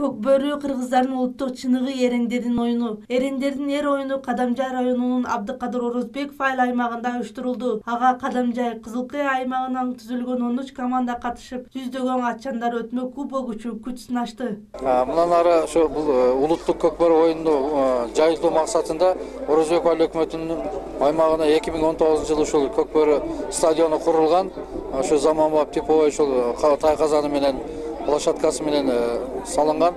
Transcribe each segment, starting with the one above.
Көкбөрү кыргыздардын улуттук чыныгы эрендердин оюну. Эрендердин эр оюну Кадамжай районунун Абдыкадыр Орозбеков айыл аймагында уюштурулду. Ага Кадамжай, Кызылкыя аймагынан түзүлгөн 13 команда катышып, жүздөгөн атчандар өтмө кубок үчүн күч сынашты. Мындан ары ошо бул улуттук көкбөрү оюнду жайылтуу максатында Орозбеков айыл өкмөтүнүн аймагына 2019-жылы ушул көкбөрү стадиону курулган. Ошо заманбап типовой ушул тай казаны менен площадкасы менен салынган.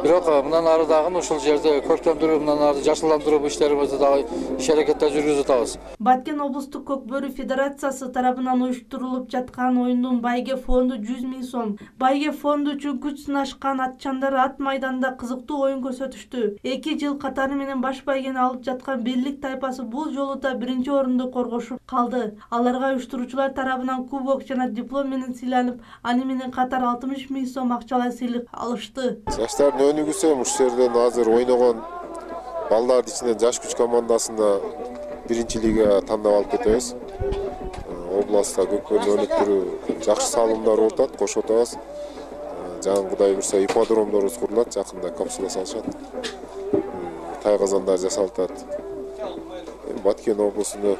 Бирок мындан ары дагы ушул жерде көркөмдүрүү, мындан ары жашылдандыруу иштерибизди дагы иш-аракеттер жүргүзүп атабыз. Баткен облустук көкбөрү федерациясы тарабынан уюштурулуп жаткан оюндун байге фонду 100 000 сом. Байге фонду үчүн күч сынашкан атчандар ат майданда кызыктуу оюн көрсөтүштү. 2 жыл катары менен баш байгени алып жаткан Бирлик тайпасы бул жолу да биринчи орунду коргошуп калды. Аларга уюштуруучулар тарабынан кубок жана диплом менен сыйланып, аны менен катар 60 000 сом акчалай сыйлык алышты. Өнүгүүсү ушул жерден азыр ойногон балдардын ичинен жаш күч командасында биринчи лига тандап алып кетебиз. Областта көкбөрү өнүктүрүү жакшы салымдар болуп атат, кошуп атабыз. Жана Кудай буйрса ипподромдорубуз курулат, жакында капсула салышат. Тай казандар жасалып атат. Баткен облусунда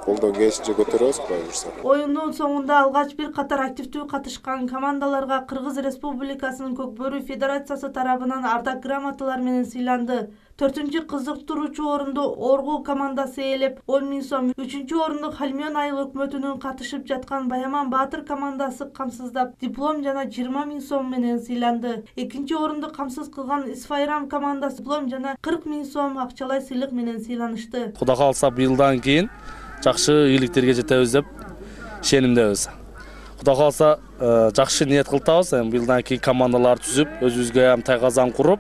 колдон келишинче көтөрөбүз, Кудай буйрса. Оюндун соңунда алгач бир катар активдүү катышкан командаларга Кыргыз Республикасынын Көкбөрү Федерациясы тарабынан ардак грамоталар менен сыйланды. 4-чү кызыктыруучу орунду Оргул командасы ээлеп 10 000 сом, 3-чү орунду Халмён айыл өкмөтүнүн катышып жаткан Баяман Баатыр командасы камсыздап, диплом жана 20 000 сом менен сыйланды. 2-чи орунду камсыз кылган Исфайрам командасы диплом жана 40 000 сом акчалай сыйлык менен сыйланышты. Кудай кааласа быйылдан кийин жакшы ийгиликтерге жетебиз деп ишенимдебиз. Кудай кааласа жакшы ниет кылтабыз. Быйылдан кийин командалар түзүп, өзүбүзгө тай казан куруп,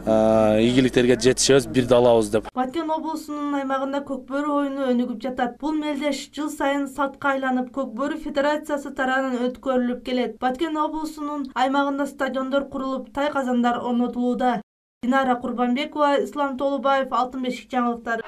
ийгиликтерге жетишебиз, бирди алабыз деп. Баткен облусунун аймагында көкбөрү оюну өнүгүп жатат. Бул мелдеш жыл сайын салтка айланып, Көкбөрү Федерациясы тарабынан өткөрүлүп келет. Баткен облусунун аймагында стадиондор курулуп, тай казандар орнотулууда. Динара Курбанбекова, Ислам Толубаев, Алтын бешик жаңылыктары.